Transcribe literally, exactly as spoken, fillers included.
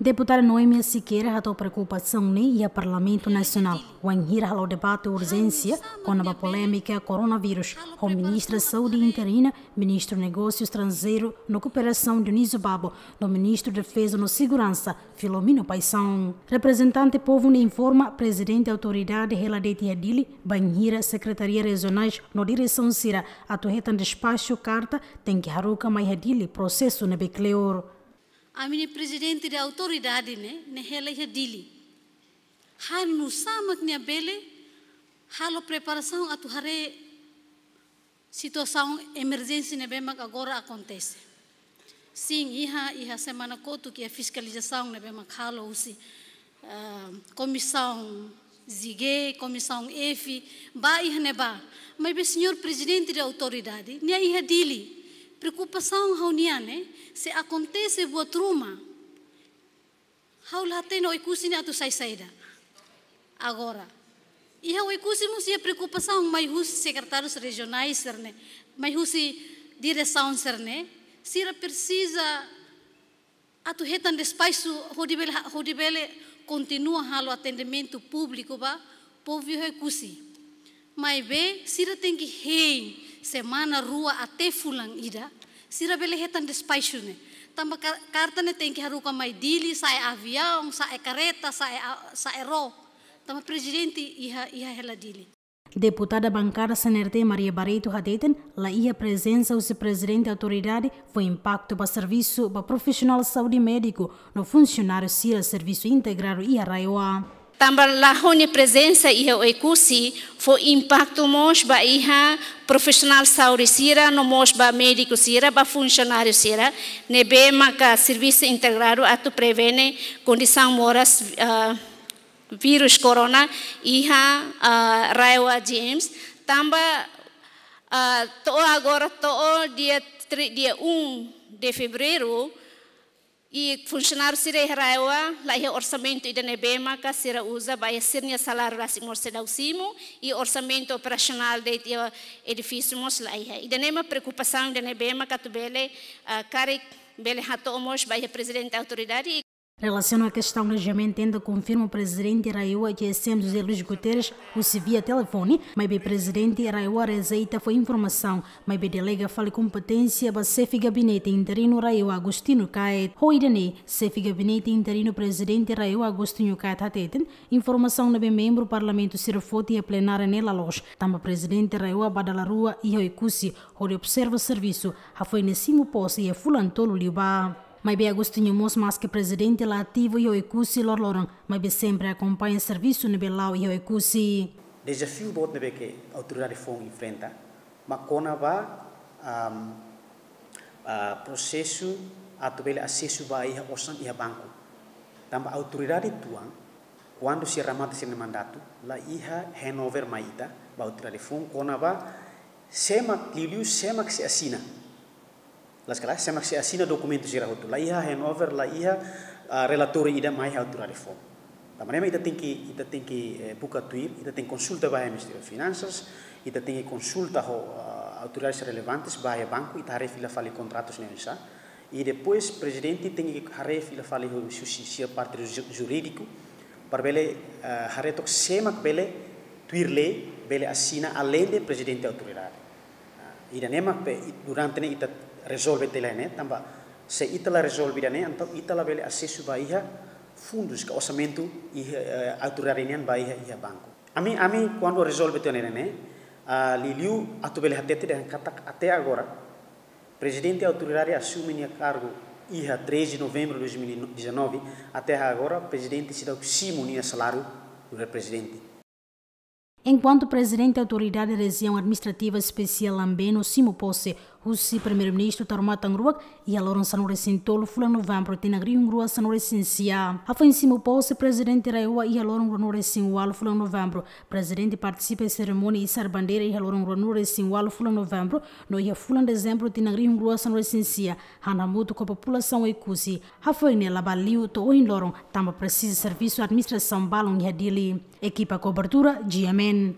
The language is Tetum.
Deputada Noemia Sequeira hato'o preokupasaun ne'e iha Parlamentu Nasionál, wainhira halo debate urjénsia kona-ba polémika koronavírus, ho Ministra Saúde interina, Ministru Negósiu Estranjeiru no Kooperasaun Dionísio Babo, no Ministru Defeza no Seguransa, Filomeno Paixão. Reprezentante povu ne'e informa Prezidente Autoridade hela de'it iha Dili, bainhira sekretaria rejionais no diresaun sira atu hetan despaxu karta, tenke haruka mai iha Dili prosesu ne'ebé kleur. Ami-nia Prezidente de Autoridade ne'e, ne'e hela iha Dili. Halo nu'usá mak nia bele halo preparasaun atu haree situasaun emerjénsia ne'ebé mak agora akontese. Sin, iha, iha semana kotuk iha fiskalizasaun ne'ebé mak halo husi, ah, Komisaun G, Komisaun F, ba iha ne'ebá. Maibé Señór Prezidente de Autoridade, nia iha Dili. Preokupasaun ha'u-nian ne'e, se akontese buat ruma, ha'u la hatene Oekusi ne'e atu sai saida. Agora, iha Oekusi mós iha preokupasaun mai husi sekretárius rejionais sira-ne'e, mai husi diresaun sira-ne'e, sira presiza atu hetan despaxu hodi bele, hodi bele kontinua halo atendimentu públiku ba povu iha Oekusi. Maibé sira tenke hein semana rua até fulan ida, sira bele hetan despaxu ne'e. Tanba ka-, karta ne'e tenke haruka mai Dili, sa'e aviaun, sa'e kareta, sa'e a-, sa'e ró. Tanba Prezidente iha, iha hela Dili. Deputada Bankada CNRT Maria Barreto hateten, la iha prezensa husi Prezidente Autoridade fó impaktu ba servisu ba profisionál saúde, médiku no funsionáriu sira servisu integradu iha RAEOA. Tanba la ho nia prezensa iha Oekusi fó impaktu mós ba iha profisionál saúde sira, no mós ba médiku sira, ba funsionáriu sira ne'ebé maka servisu integradu atu prevene kondisaun moras, ah, vírus corona iha, ah, RAEOA GMs. Tanba, ah, to'o agora, to'o dia tri-, dia um de fevereiro, i funsionáriu sira iha RAEOA la iha orsamentu ida ne'ebé maka sira uza ba iha sira-nia saláriu rasik mós seidauk simu, i orsamentu operasionál de'it iha edifísiu mós la iha. Ida-ne'e mak preokupasaun ida ne'ebé maka atu bele, ah, karik bele hato'o mós ba iha Prezidente Autoridade. Relasiona kestaun GMN tenta konfirma Prezidente RAEOA GSM José Luís Guterres husi via telefone, maibé Prezidente RAEOA rejeita fó informasaun, maibé delega fali kompeténsia ba Xefe Gabinete Interinu RAEOA Agostinho Caet. Ho ida-ne'e, Xefe Gabinete Interinu Prezidente RAEOA Agostinho Caet hateten, informasaun ne'ebé membru Parlamentu sira foti iha plenária ne'e la loos, tanba Prezidente RAEOA ba dala rua iha Oekusi hodi observa servisu, hafoin nia simu pose iha fulan tolu liubá. Maibé Agostinho mós, maske Prezidente la ativu iha Oekusi loroloron, maibé sempre akompaña servisu ne'ebé la'o iha Oekusi. Dezafiu boot ne'ebé ke autoridade foun enfrenta, mak kona-ba, am, ah, prosesu atu bele asesu ba iha osan iha banku. Tanba autoridade tuan, kuandu sira remata sira-nia mandatu, la iha handover mai ita ba autoridade foun kona-ba sé mak, liuliu sé mak sei asina. Las kalas, sé mak sei asina dokumentu sira hotu. La iha handover, la iha, ah, relatóriu ida mai iha autoridade foun. Tanba ne'e mak ita tenke, ita tenke, eh, buka tuir, ita tenke konsulta ba iha Ministériu Finansas, ita tenke konsulta ho, ah, autoridades relevantes ba iha banku, ita haree fila fali kontratus ne'e oinsá. I depois Prezidente tenke haree fila fali ho husi sira parte ju-, jurídiku, para bele, ah, haree took sé mak bele tuir lei, bele asina aleinde Prezidente Autoridade. Ah, ida-ne'e mak pe, i-, durante ne'e ita rezolve tiha ona ne'e, tanba se ita la rezolve ida-ne'e, entaun ita la bele asesu ba iha fundus ka orsamentu iha, eh, autoridade nian ba iha, iha banku. Ami, ami kuandu rezolve tiha ona ne'e, ah, liuliu atu bele hatete dehan katak até agora, Prezidente Autoridade asume nia kargu iha treze de novembro de dois mil e dezanove, até agora Prezidente seidauk simu nia saláriu nu'udar Prezidente. Enkuantu Prezidente Autoridade Rejiaun Administrativa Espesiál Ambeno simu pose husi Primeiru-Ministru Taur Matan Ruak iha loron sanulu-resin-tolu fulan Novembru tinan rihun rua sanulu-resin-sia. Hafoin simu pose Prezidente RAEOA iha loron ruanulu-resin-ualu fulan Novembru, Prezidente partisipa iha serimónia isar bandeira iha loron ruanulu-resin-ualu fulan Novembru, no iha fulan Dezembru tinan rihun rua sanulu-resin-sia, han hamutuk ho populasaun Oekusi. Hafoin ne'e la bá liu to'o ohin loron, tanba presiza servisu administrasaun balun iha Dili. Ekipa kobertura, GMN.